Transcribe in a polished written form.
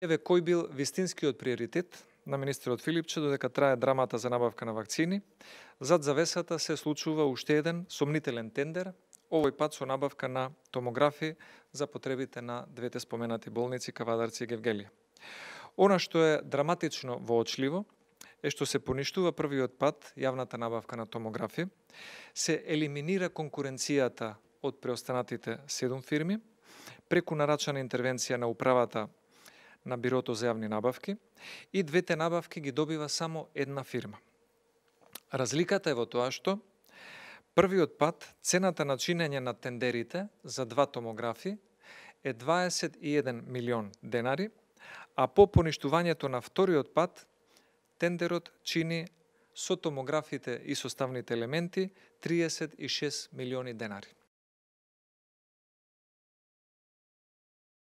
Еве кој бил вистинскиот приоритет на министерот Филипче додека трае драмата за набавка на вакцини. Зад завесата се случува уште еден сомнителен тендер, овој пат со набавка на томографи за потребите на двете споменати болници Кавадарци и Гевгелија. Она што е драматично воочливо е што се поништува првиот пат јавната набавка на томографи, се елиминира конкуренцијата од преостанатите 7 фирми, преку нарачана интервенција на управата на Бирото за јавни набавки и двете набавки ги добива само една фирма. Разликата е во тоа што првиот пат цената на чинење на тендерите за 2 томографи е 21 милион денари, а по поништувањето на вториот пат тендерот чини со томографите и составните елементи 36 милиони денари.